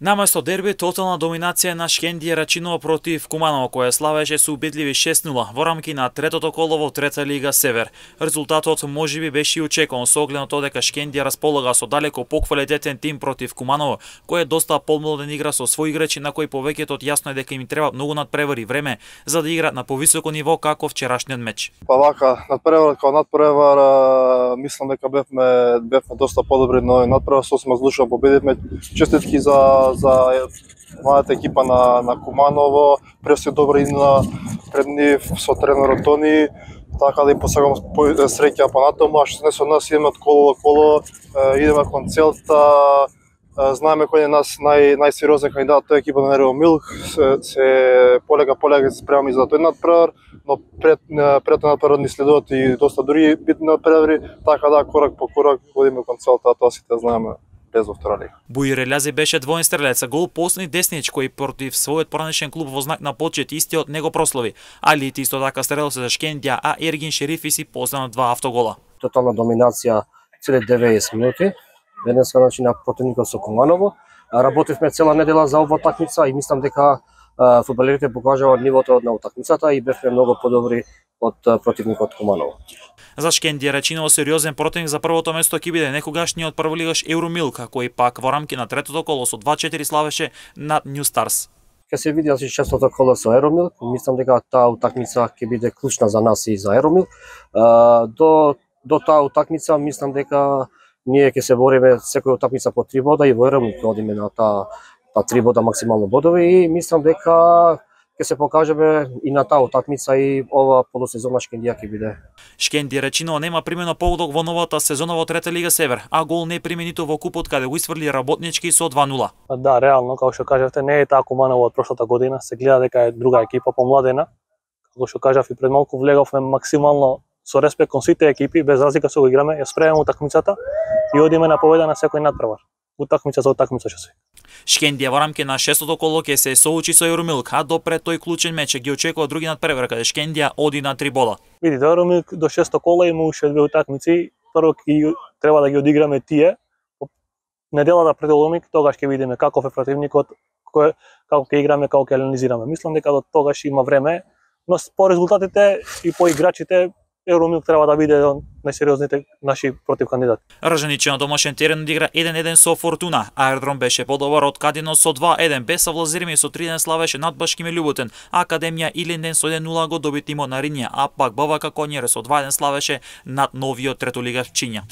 Наместо дерби, тотална доминација на Шкендија Рачиново против Куманово, која славеше со убедливи 6-0 во рамки на третото коло во Трета лига Север. Резултатот можеби беше и очекуван со оглед на тоа дека Шкендија располага со далеко поквалитетен тим против Куманово, кој е доста помладен игра со своји играчи на кои повеќето јасно е дека им треба многу надпревари време за да играат на повисоко ниво како вчерашниот меч. Па вака, надпревар како надпревар, мислам дека бевме доста подобри, но надпревар сосема злушно победивме. Честитки за мојата екипа на Куманово, преси добра идна пред нив со тренерот Тони, така да им посагам среќа понатаму, а што не со нас идеме од коло до коло, идеме кон целта, знаеме кој е нас најсериозен кандидат, тој екипа на Нерво Милк, се полека се спремаме за тој надпревар, но пред надпревар ни следуваат и доста други битни надпревари, така да корак по корак водиме кон целта, тоа сите знаеме. Бујур Елјази беше двоен стрелец, гол последни деснич кој против својот поранешен клуб во знак на почет истиот него прослави. Али исто така стрелец за Шкендија, а Ергин Шерифи си постана 2 автогола. Тотална доминација цели 90 минути. Денеска на противникот со Куманово. Работивме цела недела за оваа такмица и мислам дека фудбалерите покажаа нивото на утакмицата и бевме многу подобри од противникот Куманово. За Шкендија Рачиново сериозен противник за првото место ќе биде некогашниот прволигаш Евромилка, кој пак во рамки на третото коло со 2-4 славеше над Нью Старс. Ке се види за шестото коло со Евромилк, мислам дека таа утакмица ќе биде клучна за нас и за Евромилк. До таа утакмица мислам дека ние ќе се бориме секоја утакмица по 3 бода и во Евромилк одиме на таа 3 бода максимално бодови и мислам дека ќе се покажеме и на таа утакмица и ова полусезона Шкендија ќе биде. Шкендија Рачиново нема примено погодок во новата сезона во Трета лига Север, а гол не прими ниту во купот каде го исфрли Работнички со 2-0. Да, реално, како што кажавте, не е таа Куманово од прошлата година, се гледа дека е друга екипа помладена. Како што кажав и пред малку, влеговме максимално со респект кон сите екипи, без разлика со го играме, ја спремаме утакмицата и одиме на победа на секој надпревар. Утакмица за утакмица ќе се. Шкендија во рамки на шестото коло ќе се соочи со Евромилк, а допред тој клучен меч ги очекува други надпревар каде Шкендија оди на 3 бода. Видите, Евромилк до шесто коло има уште 2 утакмици, прво треба да ги одиграме тие. Неделата пред Евромилк тогаш ќе видиме каков е противникот, како ќе играме, како ќе анализираме. Мислам дека до тогаш има време, но по резултатите и по играчите Евромилк треба да биде најсериозните наши против кандидати. Ржаничи на домашен терен одигра 1-1 со Фортуна. Аеродром беше подобар од Кадино со 2-1, без Савлазирми со 3-1 славеше над Башкиме Љуботен. Академија Илинден со 1-0 го доби тимот на Ринија, а пак БВК Конјер со 2-1 славеше над новиот третолигаш Пчиња.